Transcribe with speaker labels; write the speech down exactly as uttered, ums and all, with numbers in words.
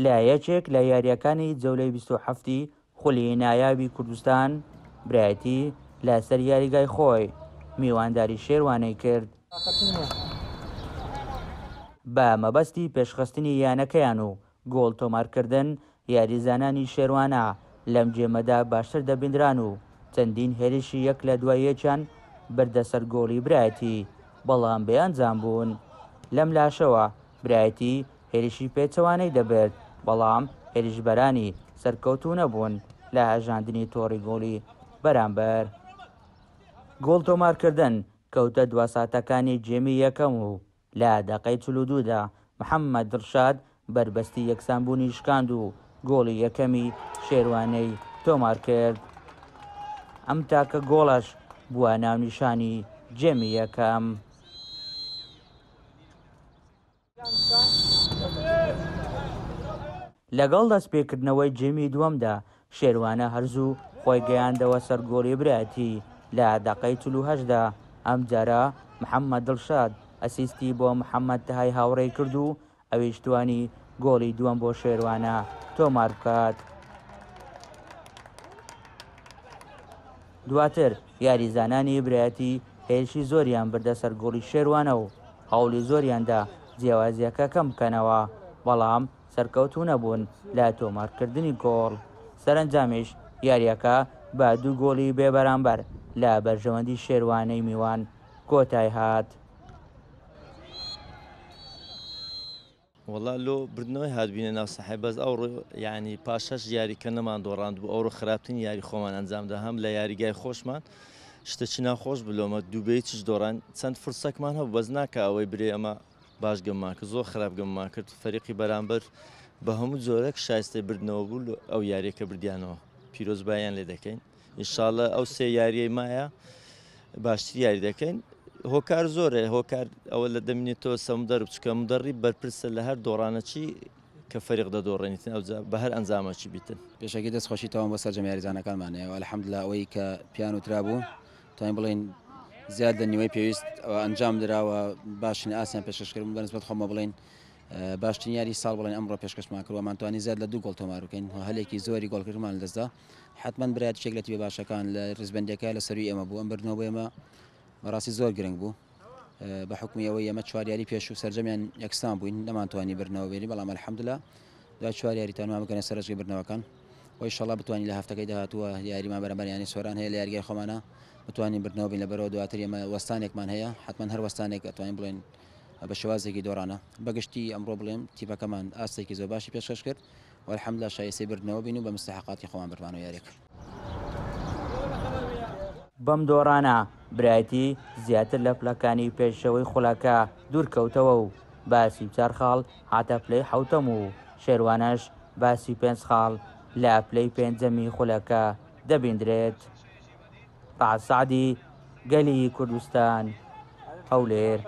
Speaker 1: لە یەکێک لە یارییەکانی جەولەی بیست و حەفتی خولی نایابی کوردستان برایەتی لەسەر یاریگای خۆی میوانداری شێروانەی کرد. بە مەبەستی پێشخستنی یانەکەیان و گۆڵ تۆمارکردن یاریزانانی شێروانە لەم گێمەدا باشتر دەبیندران و چەندین هێرشی یەک لە دوای یەکیان بردە سەر گۆڵی برایەتی، بەڵام بێ ئەنجام بوون. لەم لاشەوە برایەتی هێرشی پێچەوانەی دەبرد، بەڵام هێرشبەرانی سەرکەوتوو نەبوون لە هەژاندنی تۆڕی گۆڵی بەرامبەر. گۆڵ تۆمارکردن کەوتە دوا ساتەکانی گێمی یەکەم و لە دەقەی چل و دوودا محەممەد دڵشاد بەربەستی یەکسانبوونی شکاند و گۆڵی یەکەمی شێروانەی تۆمار کرد. ئەم تاکە گۆڵەش بووە ناونیشانی گێمی یەکەم. لەگەڵ دەستپێکردنەوەی گێمی دووەمدا شێروانە هەرزوو خۆی گەیاندەوە سەر گۆڵی برایەتی لە دەقەی چل و هەشتدا. ئەمجارە محەممەد دڵشاد ئەسیستی بۆ محەممەد تەهای هاوڕێی کرد و ئەویش توانی گۆڵی دووەم بۆ شێروانە تۆمار بکات. دواتر یاریزانانی برایەتی هێرشی زۆریان بردە سەر گۆڵی شێروانە و هەوڵی زۆریاندا جیاوازیەکە کەم بکەنەوە، بەڵام سەرکەوتوو نەبوون لە تۆمارکردنی گۆڵ. سەرەنجامیش یاریەکە بە دوو گۆڵی بێبەرامبەر لە بەرژەوەندی شێروانەی میوان کۆتای هات.
Speaker 2: وەڵا لۆ بردنەوەی هاتبینە ناو سەحای، بەس ئەوڕۆ یعنی پاش شەش یاری کە نەمان دۆڕاند بوو، ئەوڕۆ خراپترین یاری خۆمان ئەنجامدا، هەم لە یاریگای خۆشمان شتێکی ناخۆش بلۆمە دوو بێ هیچش دۆڕان، چەند فرسەکمان هەبوو بەس ناکە ئەوەی برێ ئەمە باش گەممان کرد، زۆر خراپ گەممان کرد. فەریقی بەرامبەر بە هەموو جۆرێک شایستەی بردنەوە بوو ئەو یاریەکە بردیانەوە، پیرۆزباییان لێ دەکەین ئینشاءڵڵا. ئەو سێ یاریەی مایە باشتر یاری دەکەین. هۆکار زۆرە، هۆکار ئەوە لە دەمینێتەوە سە مدەرب، چونکە مدەڕیب بەرپرسە لە هەر دۆڕانەچی کە فەریق دەدۆڕێنیتن ئەو بە هەر ئەنجامەچی بیتن.
Speaker 3: پێشەکی دەستخۆشی تەواو بۆ سەرجەم یاریزانەکانمان هەیە و ئەلحەمدللا ئەوەی کە پیان وترا بوو توانین بڵێین زیاد لە نیوەی پێویست ئەنجام دراوە، باشترین ئاسیان پێشکەش کردن بەنسبەت خۆمە بڵێین باشترین یاری ساڵ بڵێن ئەمڕۆ پێشکەشمان کردووە، مانتوانی زیاد لە دوو گۆڵ تۆمار بکەین و هەلێکی زۆری گۆڵکردنمان لەدەستدا. حتمما برایەت شێک لە تیپە باشەکان لە ڕیزبەندیەکە لە سەروی ئێمە بوو، ئەم بردنەوە بۆ ئێمە بەڕاستی زۆر گرنگ بوو بە حکمی ئەوەی ئێمە چوار یاری پێش و سەرجەمیان یەکسان بووین، نەمانتوانی بردنەوە بێنین، بەڵام ئەلحەمدللا دوای چوار یاری تانمان بکەنە سەرەجگەی بردنەوەکان و ئینشاڵڵا بتوانین لە هەفتەکەی داهاتووە یاریمان بەرامبەر یانەی سۆران هەیە لە یاریگای خۆمانە بتوانین بردنەوە بین، لەبەرەوە دواتر ئێمە وەستانێکمان هەیە، حتمما هەر وەستانێک ئەتوانین بڵێن بە شێوازێکی دۆڕانە. بەگشتی ئەمڕۆ بڵێم تیپەکەمان ئاستێکی زۆر باشی پێشکەش کرد و ئەلحەمدللا شایستەی بردنەوە بین و بە مستحقاتی خۆمان بردمانەوە یاریەکە.
Speaker 1: بەم دۆڕانە برایەتی زیاتر لە پلەکانی پێشەوەی خولەکە دوورکەوتەوە و بە سی و چوار خاڵ هاتە پلەی حەوتەم و شێروانەش بە سی و پێنج خاڵ لە پلەی پێنجەمی خولەکە دەبیندرێت. ڕەعد سەعدی، گەلی کوردستان، هەولێر.